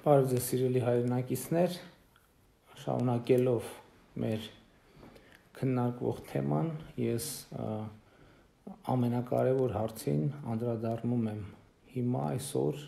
Բարև ձեզ սիրելի հայրենակիցներ, շարունակելով մեր քննարկվող թեման, ես ամենակարևոր հարցին անդրադառնում եմ հիմա այսօր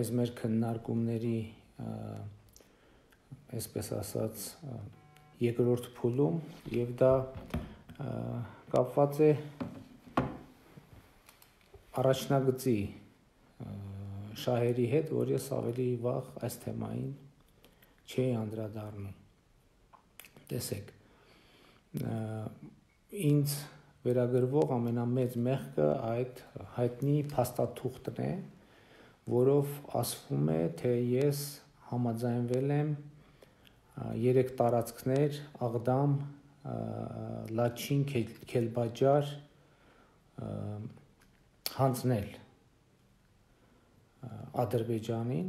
այս մեր քննարկումների այսպես ասած երկրորդ փուլում եւ դա կապված է առաջնագծի շահերի հետ, որ ես ավելի վաղ այս թեմային չէի անդրադառնում։ Տեսեք, ինձ վերագրվող ամենամեծ մեղքը այդ հայտնի փաստաթուղթն է, որով ասվում է, թե ես համաձայնվել եմ 3 տարածքներ Աղդամ, Լաչին, Քելբաջար հանձնել Ադրբեջանին,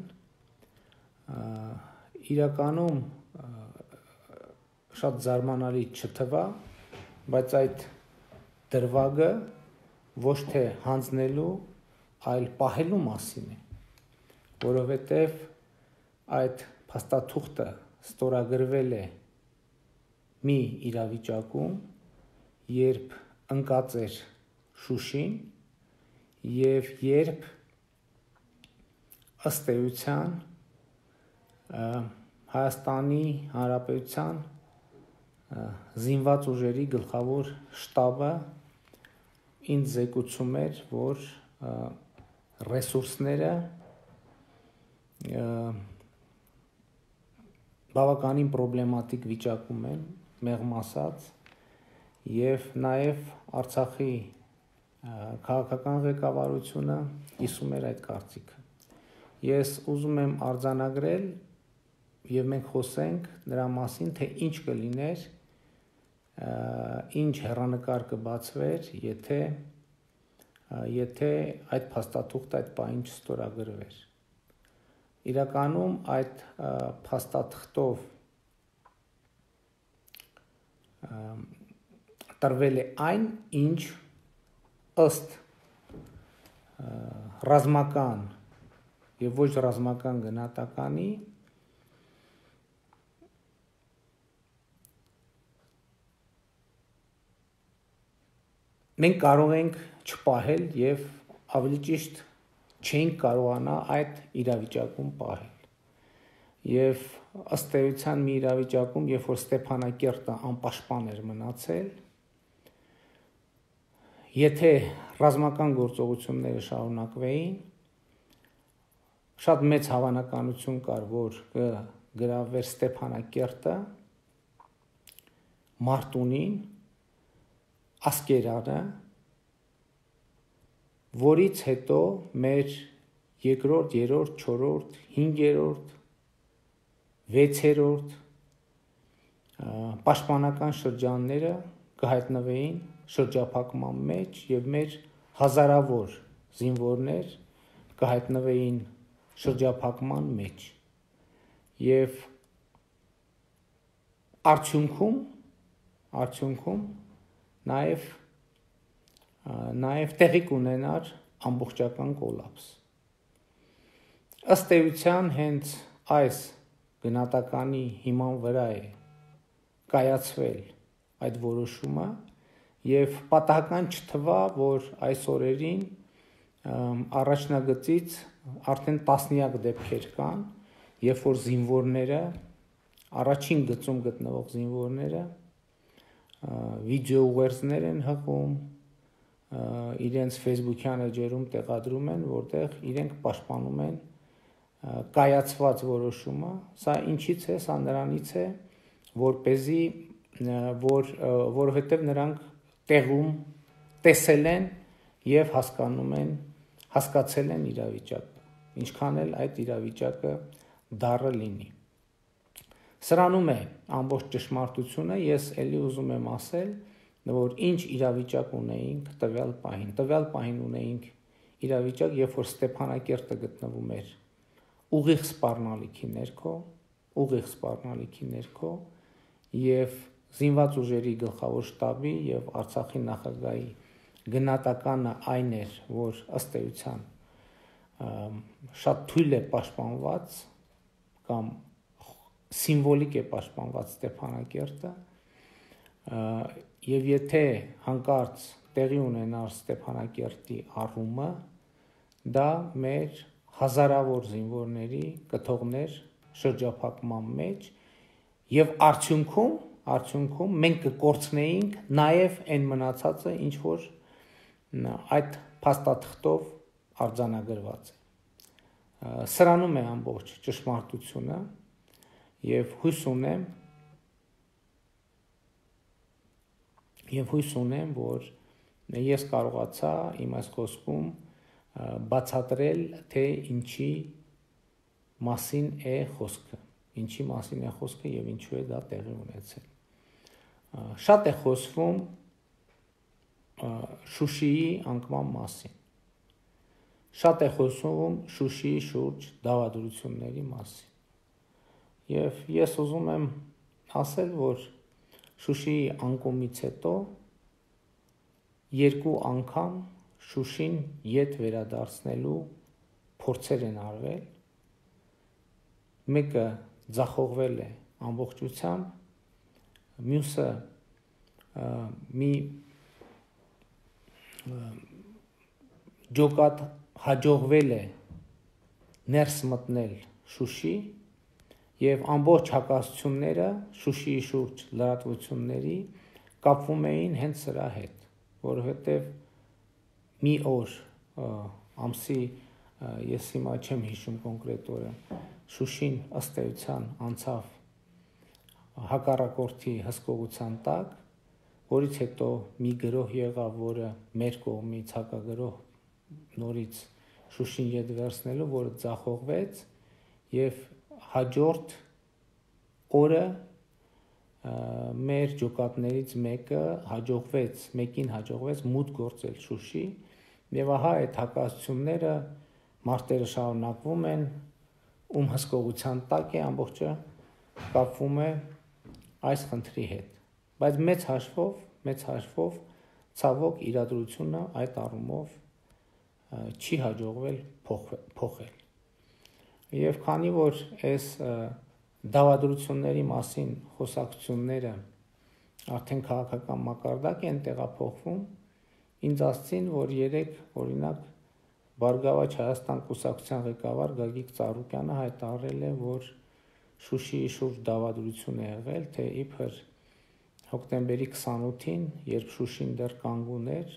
իրականում շատ զարմանալի չթվա, բայց այդ դրվագը ոչ թե հանձնելու, այլ պահելու մասին է, որովհետև այդ փաստաթուղթը ստորագրվել է մի իրավիճակում, երբ ընկած էր Շուշին եւ երբ ըստ էության Հայաստանի Հանրապետության զինված ուժերի գլխավոր շտաբը ինձ զեկուցում էր, որ ռեսուրսները բավականին պրոբլեմատիկ վիճակում են, մեղմ ասած, եւ նաեւ Արցախի քաղաքական ղեկավարությունը կիսում էր այդ կարծիքը։ Ես ուզում եմ արձանագրել եւ մենք խոսենք նրա մասին, թե ինչ կլիներ, ինչ հեռանկար կբացվեր, եթե այդ փաստաթուղթը այդ պահին չստորագրվեր։ Իրականում այդ փաստաթղթով տրվել է այն, ինչ ըստ ռազմական եւ ոչ ռազմական գնահատականի մենք կարող ենք չպահել եւ ավելի ճիշտ չենք կարողանա այդ իրավիճակում պահել։ Եվ ըստ էության մի իրավիճակում, երբ որ Ստեփանակերտը անպաշտպան էր մնացել, եթե ռազմական գործողությունները շարունակվեին, շատ մեծ հավանականություն կար, որ կգրավվեր Ստեփանակերտը, Մարտունին, Ասկերանը, որից հետո մեր 2-րդ, 3-րդ, 4-րդ, 5-րդ, 6-րդ պաշտպանական շրջանները կհայտնվեին շրջափակման մեջ եւ մեր հազարավոր զինվորներ կհայտնվեին շրջափակման մեջ եւ արդյունքում նաեւ տեղի կունենար ամբողջական կոլապս։ Ըստ էության հենց այս գնահատականի հիման վրա է կայացվել այդ որոշումը եւ պատահական չթվա, որ այս օրերին առաջնագծից արդեն տասնյակ դեպքեր կան, երբ որ զինվորները, առաջին գծում գտնվող զինվորները վիդեո ուղերձներ են հղում, իրենց Facebook-յան էջերում տեղադրում են, որտեղ իրենք պաշտպանում են կայացված որոշումը, սա ինչից է, սա նրանից է, որովհետև նրանք տեղում տեսել են եւ հասկացել են իրավիճակը, ինչքան էլ այդ իրավիճակը դառը լինի։ Սրանում է ամբողջ ճշմարտությունը, ես ելի ուզում եմ ասել, որ ինչ իրավիճակ ունեինք տվյալ պահին ունեինք իրավիճակ, երբ որ Ստեփանակերտը գտնվում էր ուղիղ սպառնալիքի ներքո եւ զինված ուժերի գլխավոր շտաբի եւ Արցախի նախագահի գնահատականը այն էր, որ ըստ էության շատ թույլ է պաշտպանված կամ սիմվոլիկ է պաշտպանված Ստեփանակերտը, եւ եթե հանկարծ տեղի ունենար Ստեփանակերտի առումը, դա մեր հազարավոր զինվորների կթողներ շրջափակման մեջ եւ արդյունքում մենք կկորցնեինք նաեւ այն մնացածը, ինչ որ այդ փաստաթղթով արձանագրված է։ Սրանում է ամբողջ ճշմարտությունը եւ հույս ունեմ, որ ես կարողացա իմ այս խոսքում բացատրել, թե ինչի մասին է խոսքը եւ ինչու է դա տեղի ունեցել։ Շատ է խոսվում Շուշիի անկման մասին։ Շատ է խոսվում Շուշիի շուրջ դավադրությունների մասին։ Եվ ես ուզում եմ ասել, որ Շուշիի անկումից հետո երկու անգամ Շուշին ետ վերադարձնելու փորձեր են արվել։ Մեկը ձախողվել է ամբողջությամբ, մյուսը մի ջոկատ հաջողվել է ներս մտնել Շուշի եւ ամբողջ հակասությունները Շուշիի շուրջ լրատվությունների կապվում էին հենց սրա հետ, որովհետեւ մի օր ամսի ես հիմա չեմ հիշում կոնկրետ օրը Շուշին ըստ էության անցավ հակառակորդի հսկողության տակ, որից հետո մի գրոհ եղավ, որը մեր կողմից հակագրոհ նորից Շուշին ետ վերցնելու, որը ձախողվեց եւ հաջորդ օրը մեր ջոկատներից մեկին հաջողվեց մուտք գործել Շուշի եւ ահա այդ հակասությունները մարտերը շարունակվում են, ում հսկողության տակ է ամբողջը կապվում է այս խնդրի հետ, բայց մեծ հաշվով ցավոք իրադրությունը այդ առումով չի հաջողվել փոխել։ Եվ քանի որ այս դավադրությունների մասին խոսակցությունները արդեն քաղաքական մակարդակ են տեղափոխվում, ինձ ասցին, որ երեք օրինակ Բարգավաճ Հայաստան կուսակցության ղեկավար Գագիկ Ծառուկյանը հայտարարել է, որ Շուշիի շուրջ դավադրություն է եղել, թե իբր հոկտեմբերի 28-ին, երբ Շուշին դեռ կանգուն էր,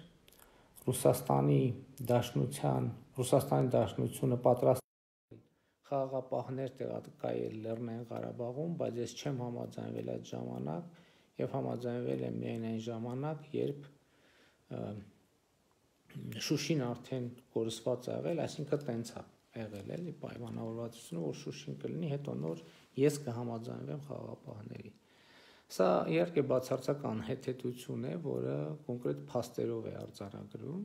Ռուսաստանի Դաշնությունը պատրաստ խաղաղապահներ տեղակայել Լեռնային Ղարաբաղում, բայց ես չեմ համաձայնվել այդ ժամանակ եւ համաձայնվել եմ միայն այն ժամանակ, երբ Շուշին արդեն կորսված է եղել, այսինքն տենց է եղել, էլի պայմանավորվածությունը, որ Շուշին կլինի, հետո նոր ես կհամաձայնվեմ խաղաղապահների։ Սա իհարկե բացարձակ անհեթեթություն է, որը կոնկրետ փաստերով է արձանագրում։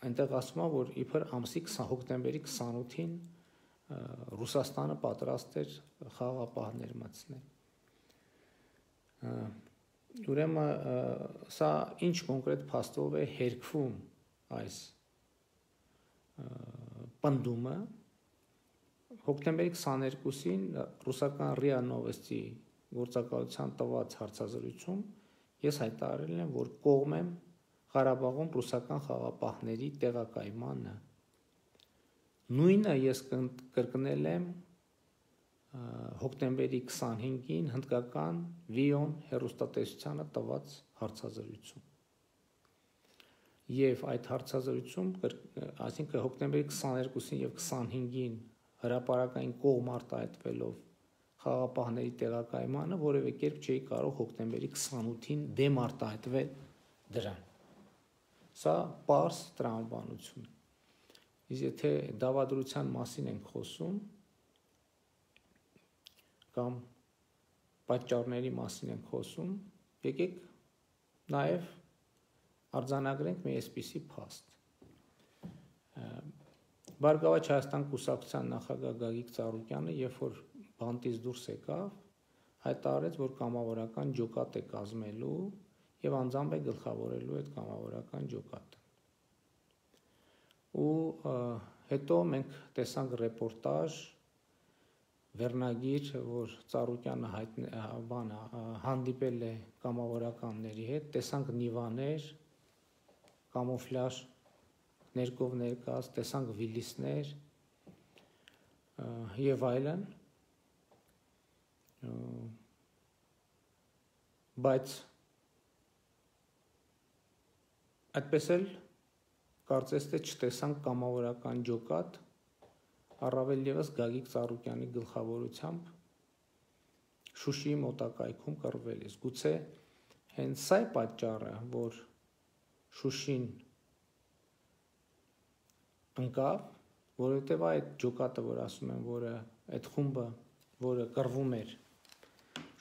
Այնտեղ ասում է, որ իբր ամսի հոկտեմբերի 28-ին Ռուսաստանը պատրաստ էր խաղաղապահներ մտցնել։ Ուրեմն սա ինչ կոնկրետ փաստով է հերքվում այս պնդումը։ Հոկտեմբերի 22-ին ռուսական ՌԻԱ Նովոստի գործակալության տված հարցազրույցում ես հայտարարել եմ, որ կողմ եմ Ղարաբաղում ռուսական խաղաղապահների տեղակայմանը։ Նույնը ես կրկնել եմ հոկտեմբերի 25-ին հնդկական Վիոն հեռուստատեսությանը տված հարցազրույցում։ Եվ այդ հարցազրույցում, այսինքն հոկտեմբերի 22-ին եւ 25-ին հրապարակային կողմ արտահայտվելով խաղաղապահների տեղակայմանը, որևէ կերպ չէի կարող հոկտեմբերի 28-ին դեմ արտահայտվել դրան։ Սա պարզ տրամաբանություն է։ Իսկ եթե դավադրության մասին ենք խոսում կամ պատճառների մասին ենք խոսում, եկեք նաև արձանագրենք մի այսպիսի փաստ։ Բարգավաճ Հայաստան կուսակցության նախագահ Գագիկ Ծառուկյանը, երբ որ բանտից դուրս եկավ, հայտարարեց, որ կամավորական ջոկատ է կազմելու եւ անձամբ է գլխավորելու այդ կամավորական ջոկատը։ ու հետո մենք տեսանք ռեպորտաժ, վերնագիր, որ Ծառուկյանը հանդիպել է կամավորականների հետ, տեսանք նիվաներ, կամուֆլաժ ներկով ներկաց, տեսանք վիլիսներ եւ այլն, բայց այդպես էլ կարծես թե չտեսանք կամավորական ջոկատ, առավել ևս Գագիկ Ծառուկյանի գլխավորությամբ Շուշիի մոտակայքում կռվելիս։ Գուցե հենց սա է պատճառը, որ Շուշին ընկավ, որովհետև այդ ջոկատը, որ ասում են, որը այդ խումբը, որը կռվում էր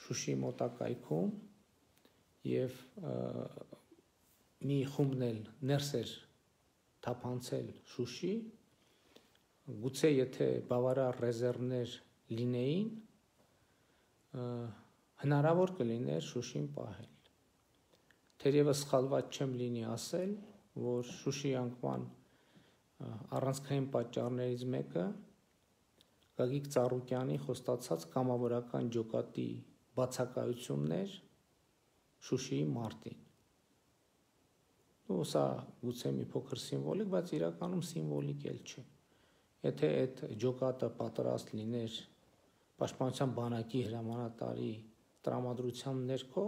Շուշիի մոտակայքում եւ մի խումբն էլ ներս էր թափանցել Շուշի, գուցե եթե բավարար ռեզերվներ լինեին, հնարավոր կլիներ Շուշին պահել։ Թերևս սխալված չեմ լինի ասել, որ Շուշի անկման առանցքային պատճառներից մեկը Գագիկ Ծառուկյանի խոստացած կամավորական ջոկատի բացակայությունն էր Շուշիի մարտին։ Ու սա գուցե մի փոքր սիմվոլիկ, բայց իրականում սիմվոլիկ էլ չէ։ Եթե այդ ջոկատը պատրաստ լիներ Պաշտպանության բանակի հրամանատարի տրամադրության ներքո,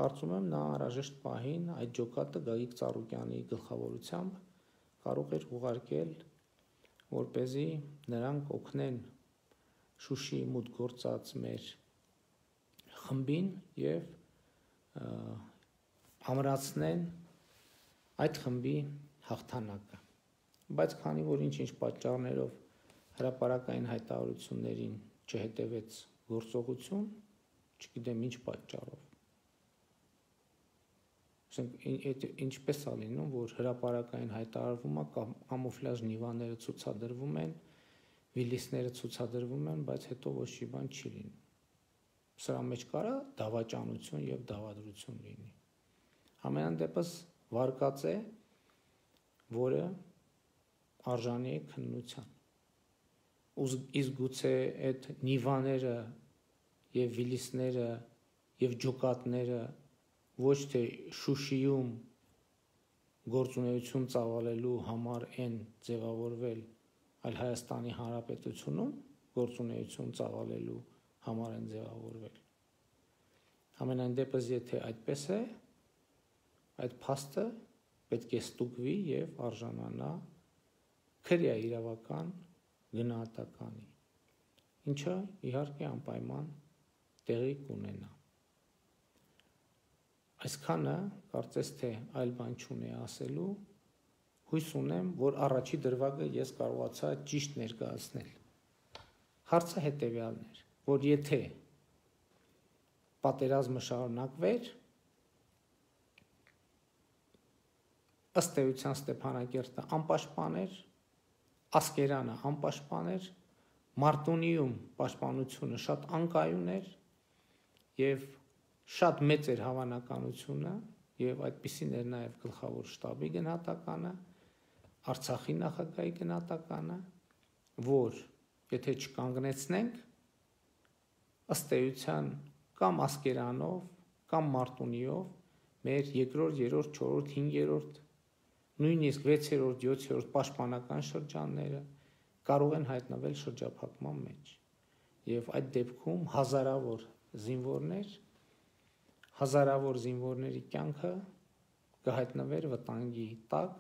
կարծում եմ նա անհրաժեշտ պահին այդ ջոկատը Գագիկ Ծառուկյանի գլխավորությամբ կարող էր ուղարկել, որպեսզի նրանք օգնեն Շուշիի մուտք գործած մեր խմբին եւ ամրացնեն այդ խմբի հաղթանակը։ Բայց քանի որ ինչ-ինչ պատճառներով հրապարակային հայտարարություններին չհետևեց գործողություն, չգիտեմ ինչ պատճառով։ Ինչպես է լինում, որ հրապարակային հայտարարվում է, կամուֆլաժ նիվաները ցուցադրվում են, վիլիսները ցուցադրվում են, բայց հետո ոչ մի բան չի լինում։ Սրա մեջ կարա դավաճանություն եւ դավադրություն լինի։ Ամենայն դեպս վարկած է, որը արժանի է քննության։ Իսկ գուցե այդ նիվաները եւ վիլիսները եւ ջոկատները ոչ թե Շուշիում գործունեություն ծավալելու համար են ձևավորվել, այլ Հայաստանի Հանրապետությունում գործունեություն ծավալելու համար են ձևավորվել։ Ամենայն դեպս, եթե այդպես է, այդ փաստը պետք է ստուգվի եւ արժանանա քրեա իրավական գնահատականի, ինչը իհարկե անպայման տեղի կունենա։ Այսքանը կարծես թե այլ բան չունի ասելու, հույս ունեմ, որ առաջի դրվագը ես կարողացա ճիշտ ներկայացնել։ Հարցը հետևյալն էր, որ եթե պատերազմը շարունակվեր, ըստ էության Ստեփանակերտը անպաշտպան էր, Ասկերանը անպաշտպան էր, Մարտունիում պաշտպանությունը շատ անկայուն էր եւ շատ մեծ էր հավանականությունը եւ այդպիսին էր նաեւ գլխավոր շտաբի գնահատականը, Արցախի նախագահի գնահատականը, որ եթե չկանգնեցնենք, ըստ էության կամ Ասկերանով, կամ Մարտունիով մեր երկրորդ, երրորդ, չորրորդ, 5-րդ, նույնիսկ 6-րդ, 7-րդ պաշտպանական շրջանները կարող են հայտնվել շրջափակման մեջ եւ այդ դեպքում հազարավոր զինվորների կյանքը կհայտնվեր վտանգի տակ,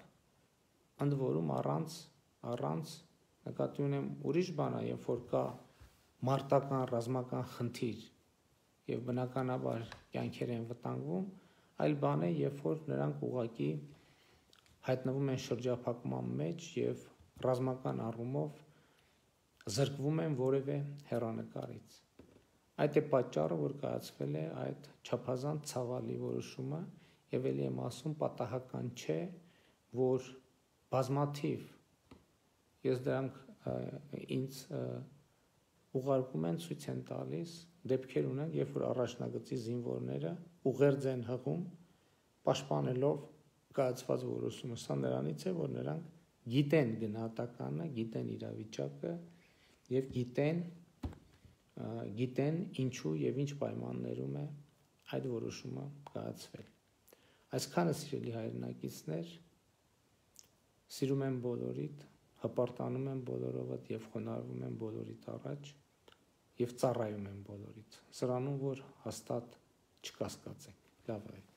ընդ որում առանց նկատի ունեմ ուրիշ բան է, երբ որ կա մարտական ռազմական խնդիր եւ բնականաբար կյանքեր են վտանգվում, այլ բան է, երբ որ նրանք ուղղակի հայտնվում են շրջափակման մեջ եւ ռազմական առումով զրկվում են որևէ հեռանկարից։ Այդ է պատճառը, որ կայացվել է այդ չափազանց ցավալի որոշումը եւ ելի եմ ասում պատահական չէ, որ բազմաթիվ ես դրանք ինձ ուղարկում են, ցույց են տալիս, դեպքեր ունենք, երբ որ առաջնագծի զինվորները ուղերձ են հղում, պաշտպանելով կայացված որոշումը, սա նրանից է, որ նրանք գիտեն գնահատականը, գիտեն իրավիճակը եւ գիտեն ինչու եւ ինչ պայմաններում է այդ որոշումը կայացվել։ Այսքանը սիրելի հայրենակիցներ, սիրում եմ բոլորիդ, հպարտանում եմ բոլորովդ եւ խոնարհվում եմ բոլորիդ առաջ եւ ծառայում եմ բոլորիդ։ Սրանում որ հաստատ չկասկածեք։ Լավ է։